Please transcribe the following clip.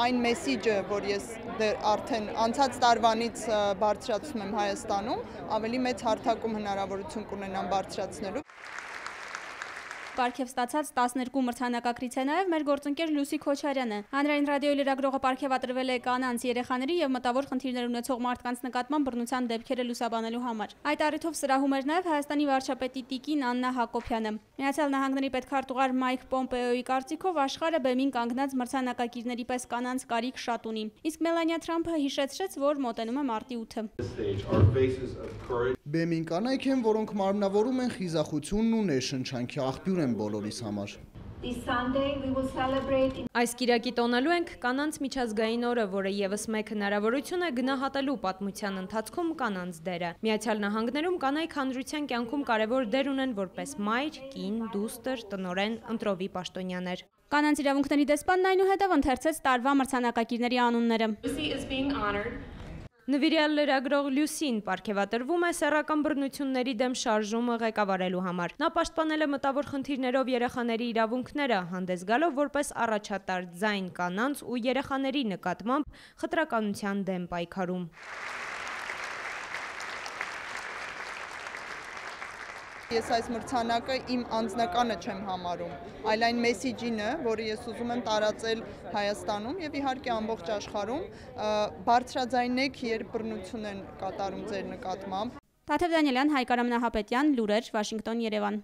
Այն մեսիջը, որ ես արդեն անցած տարվանից բարձրացնում եմ Հայաստանում, ավելի մեծ հարթակում հնարավորություն կունենամ բարձրացնելու։ Պարգև ստացած 12 մրցանակակրից է նաև մեր գործընկեր Լուսի Քոչարյանը։ Հանրային ռադիոյի լրագրողը պարգևատրվել է կանանց, երեխաների եւ մտավոր խնդիրներ ունեցող մարդկանց նկատմամբ բռնության դեպքերը լուսաբանելու համար։ Այդ առիթով սրահում էր նաև Հայաստանի վարչապետի տիկին Աննա Հակոբյանը։ Միացյալ Նահանգների պետքարտուղար Մայք Պոմպեոյի կարծիքով աշխարհը բեմին կանգնած մրցանակակիրների պես կանանց կարիք շատ ունի։ Իսկ Մելանիա Թրամփը հիշեցրեց, որ մոտենում է մարտի 8-ը։ Բեմին կանայք են, որոնք մարմնավորում են խիզախությունն ու ներշնչանքի աղբյուր են բոլորիս համար։ Այս կիրակի տոնելու ենք կանանց միջազգային օրը, որը եւս մեկ հնարավորություն է գնահատելու պատմության ընթացքում կանանց դերը։ Միացյալ Նահանգներում կանայք հանրության կյանքում կարևոր դեր ունեն որպես մայր, կին, դուստր, տնօրեն, ընտրովի պաշտոնյաներ։ Կանանց իրավունքների դեսպանն այնուհետև ընթերցեց տարվա մրցանակակիրների անունները։ Նվիրյալ լրագրող Լյուսին պարգևատրվում է սեռական բռնությունների դեմ շարժումը ղեկավարելու համար։ Նա պաշտպանել է մտավոր խնդիրներով երեխաների իրավունքները, հանդես գալով որպես առաջատար ձայն կանանց ու երեխաների նկատմամբ խտրականության դեմ պայքարում։ Ես այս մրցանակը իմ անձնականը չեմ համարում, այլ այն մեսիջինը, որը ես ուզում եմ տարածել Հայաստանում եւ իհարկե ամբողջ աշխարհում, բարձրաձայնեք, երբ բռնություն են կատարում ձեր նկատմամբ։ Տաթև Դանիելյան, Հայկ Արամ Նահապետյան, լուրեր, Վաշինգտոն, Երևան։